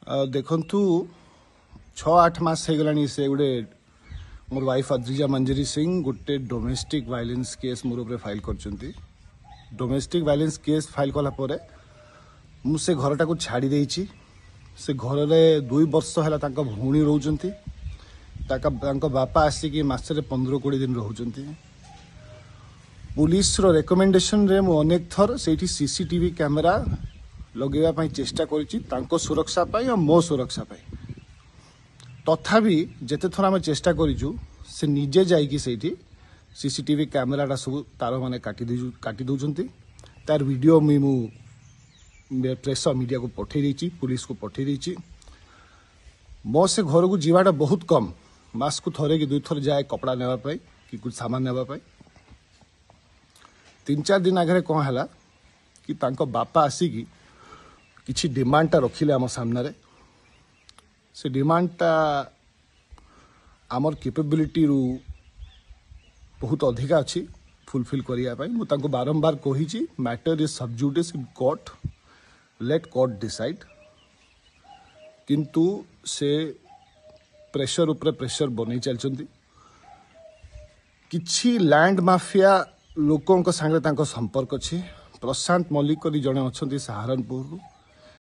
ଦେଖନ୍ତୁ, 6-8 ମାସ ହେଇଗଲାଣି, ସେ ଗୋଟେ ମୋର ୱାଇଫ୍ ଅଦ୍ରିଜା ମଞ୍ଜରୀ ସିଂ ଗୋଟେ ଡୋମେଷ୍ଟିକ୍ ଭାଇଲେନ୍ସ କେସ୍ ମୋର ଉପରେ ଫାଇଲ୍ କରିଛନ୍ତି। ଡୋମେଷ୍ଟିକ୍ ଭାଇଲେନ୍ସ କେସ୍ ଫାଇଲ୍ କଲା ପରେ ମୁଁ ସେ ଘରଟାକୁ ଛାଡ଼ି ଦେଇଛି। ସେ ଘରରେ 2 ବର୍ଷ ହେଲା ତାଙ୍କ ଭଉଣୀ ରହୁଛନ୍ତି। ତାଙ୍କ ବାପା ଆସିକି ମାସରେ 15-20 ଦିନ ରହୁଛନ୍ତି। ପୁଲିସର ରେକମେଣ୍ଡେସନରେ ମୁଁ ଅନେକ ଥର ସେଇଠି ସିସିଟିଭି କ୍ୟାମେରା ଲଗେଇବା ପାଇଁ ଚେଷ୍ଟା କରିଛି, ତାଙ୍କ ସୁରକ୍ଷା ପାଇଁ ଆଉ ମୋ ସୁରକ୍ଷା ପାଇଁ। ତଥାପି ଯେତେ ଥର ଆମେ ଚେଷ୍ଟା କରିଛୁ, ସେ ନିଜେ ଯାଇକି ସେଇଠି ସିସିଟିଭି କ୍ୟାମେରାଟା ସବୁ ତାର ମାନେ କାଟି ଦେଉଛନ୍ତି। ତାର ଭିଡ଼ିଓ ମୁଁ ପ୍ରେସ୍ ମିଡ଼ିଆକୁ ପଠେଇ ଦେଇଛି, ପୁଲିସକୁ ପଠେଇ ଦେଇଛି। ମୋ ସେ ଘରକୁ ଯିବାଟା ବହୁତ କମ୍, ମାସକୁ ଥରେ କି ଦୁଇଥର ଯାଏ କପଡ଼ା ନେବା ପାଇଁ କି କିଛି ସାମାନ ନେବା ପାଇଁ। 3-4 ଦିନ ଆଗରେ କ'ଣ ହେଲା କି ତାଙ୍କ ବାପା ଆସିକି କିଛି ଡିମାଣ୍ଡଟା ରଖିଲେ ଆମ ସାମ୍ନାରେ। ସେ ଡିମାଣ୍ଡଟା ଆମର କେପେବିଲିଟିରୁ ବହୁତ ଅଧିକା ଅଛି ଫୁଲଫିଲ୍ କରିବା ପାଇଁ। ମୁଁ ତାଙ୍କୁ ବାରମ୍ବାର କହିଛି, matter is sub judice in court, let court decide। କିନ୍ତୁ ସେ ପ୍ରେସର ଉପରେ ପ୍ରେସର ବନେଇ ଚାଲିଛନ୍ତି। କିଛି ଲ୍ୟାଣ୍ଡ ମାଫିଆ ଲୋକଙ୍କ ସାଙ୍ଗରେ ତାଙ୍କ ସମ୍ପର୍କ ଅଛି। ପ୍ରଶାନ୍ତ ମଲ୍ଲିକ କରି ଜଣେ ଅଛନ୍ତି ସାହାରନପୁରରୁ।